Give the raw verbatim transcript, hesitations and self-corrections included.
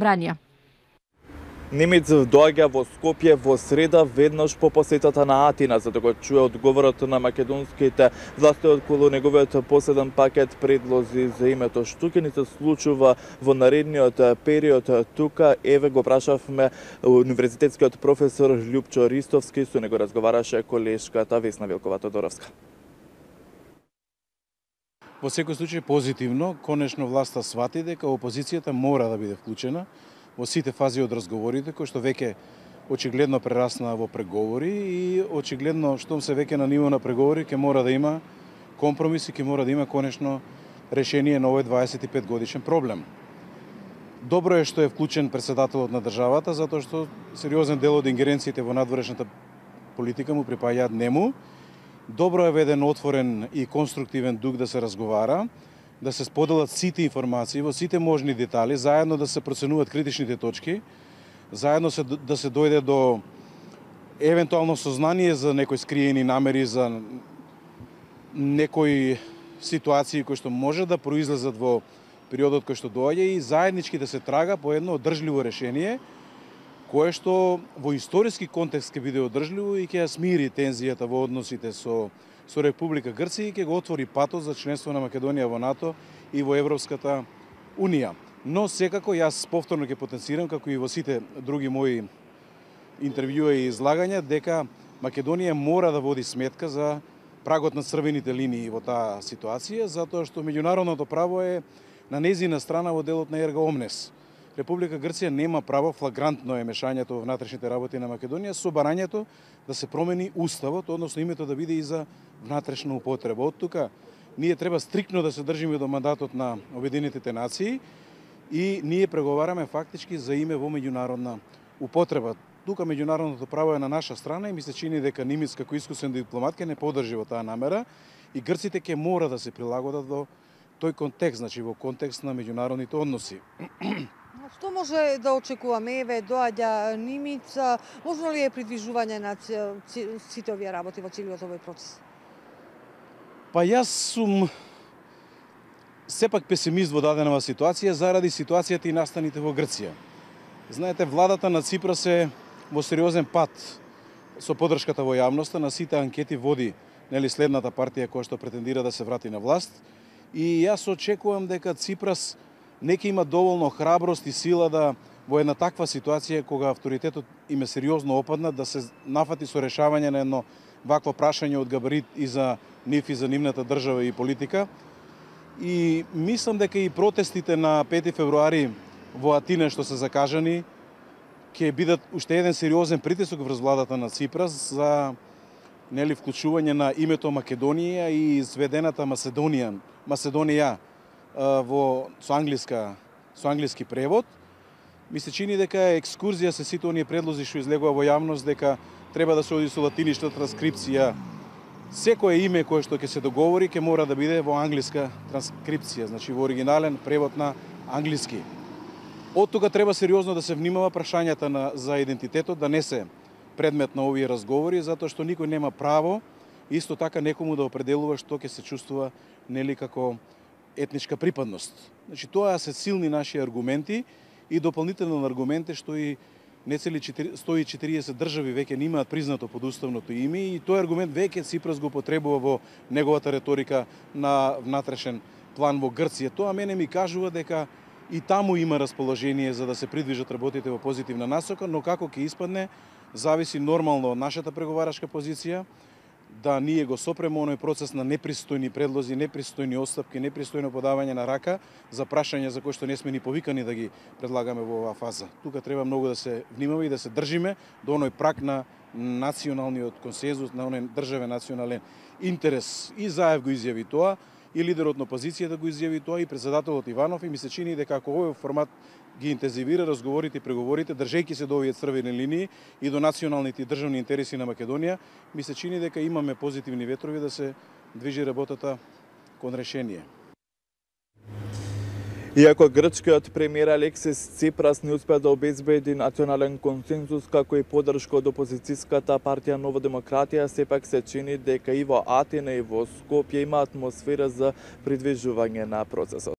собранија. Немец доаѓа во Скопје во среда веднаш по посетата на Атина, за да го чуе одговорот на македонските власти околу неговиот последен пакет предлози за името. Што ќе ни се случува во наредниот период тука, еве го прашавме универзитетскиот професор Љупчо Ристовски, со него разговараше колешката Весна Вилкова-Тодоровска. Во секој случај позитивно, конечно власта свати дека опозицијата мора да биде вклучена во сите фази од разговорите, кои што веќе очигледно прераснаа во преговори и очигледно штом се веќе на ниво на преговори ќе мора да има компромиси, ќе мора да има конечно решение на овој дваесет и пет годишен проблем. Добро е што е вклучен претседателот на државата, затоа што сериозен дел од ингеренциите во надворешната политика му припаѓаат нему. Добро е веден отворен и конструктивен дух да се разговара, да се споделат сите информации во сите можни детали, заедно да се проценуваат критичните точки, заедно се, да се дојде до евентуално сознание за некои скриени намери, за некои ситуации кои што може да произлезат во периодот кој што доаѓа и заеднички да се трага по едно одржливо решение, кое што во историски контекст ќе биде одржливо и ќе ја смири тензијата во односите со со Република Грција и ќе го отвори патот за членство на Македонија во НАТО и во Европската Унија. Но секако јас повторно ќе потенцирам, како и во сите други мои интервјуа и излагања, дека Македонија мора да води сметка за прагот на црвените линии во таа ситуација, затоа што меѓународното право е на нејзина страна во делот на ерга омнес. Република Грција нема право, флагрантно е мешањето во внатрешните работи на Македонија со барањето да се промени уставот, односно името да биде и за внатрешна употреба. Од тука ние треба стриктно да се држиме до мандатот на Обединетите нации и ние преговараме фактички за име во меѓународна употреба. Тука меѓународното право е на наша страна и ми се чини дека Нимиц како искусен дипломат ќе не подржи во таа намера и грците ќе мора да се прилагодат во тој контекст, значи во контекст на меѓународните односи. Што може да очекуваме? Еве, доаѓа Нимиц, можно ли е придвижување на сите овие работи во целиот овој процес? Па јас сум сепак песимист во даденава ситуација заради ситуацијата и настаните во Грција. Знаете, владата на Ципрас е во сериозен пат со поддршката во јавноста, на сите анкети води нели следната партија која што претендира да се врати на власт и јас очекувам дека Ципрас нека има доволно храброст и сила да во една таква ситуација кога авторитетот им е сериозно опаднат да се нафати со решавање на едно вакво прашање од габарит и за нив и за нивната држава и политика. И мислам дека и протестите на пети февруари во Атина што се закажани ќе бидат уште еден сериозен притисок врз владата на Ципрас за нели вклучување на името Македонија и сведената Маседонија, Маседонија во со англиска со англиски превод. Ми се чини дека екскурзија се сите оние предлози што излегува во јавност дека треба да се оди со латиништа транскрипција. Секое име кое што ќе се договори ќе мора да биде во англиска транскрипција, значи во оригинален превод на англиски. Од тука треба сериозно да се внимава прашањата на за идентитетот да не се предмет на овие разговори, затоа што никој нема право исто така некому да определува што ќе се чувствува нели како етничка припадност. Значи тоа се силни наши аргументи и дополнително на аргументи што и нецели сто и четириесет држави веќе немаат признато подуставното име и тој аргумент веќе Ципрас го потребува во неговата реторика на внатрешен план во Грција. Тоа мене ми кажува дека и таму има расположение за да се придвижат работите во позитивна насока, но како ќе испадне зависи нормално од нашата преговарашка позиција, да ние го сопремо оној процес на непристојни предлози, непристојни оставки, непристојно подавање на рака за прашања за кои што не сме ни повикани да ги предлагаме во оваа фаза. Тука треба многу да се внимава и да се држиме до оној праг на националниот консензус, на оној државен национален интерес. И Заев го изјави тоа, и лидерот на опозицијата го изјави тоа, и претседателот Иванов, и ми се чини дека ако овој формат ги интензивира разговорите и преговорите, држејќи се до овие црвени линии и до националните и државни интереси на Македонија, ми се чини дека имаме позитивни ветрови да се движи работата кон решение. Иако грчкиот премиер Алексис Ципрас не успеа да обезбеди национален консензус како и поддршка од опозицијската партија Нова демократија, сепак се чини дека и во Атина и во Скопје има атмосфера за придвижување на процесот.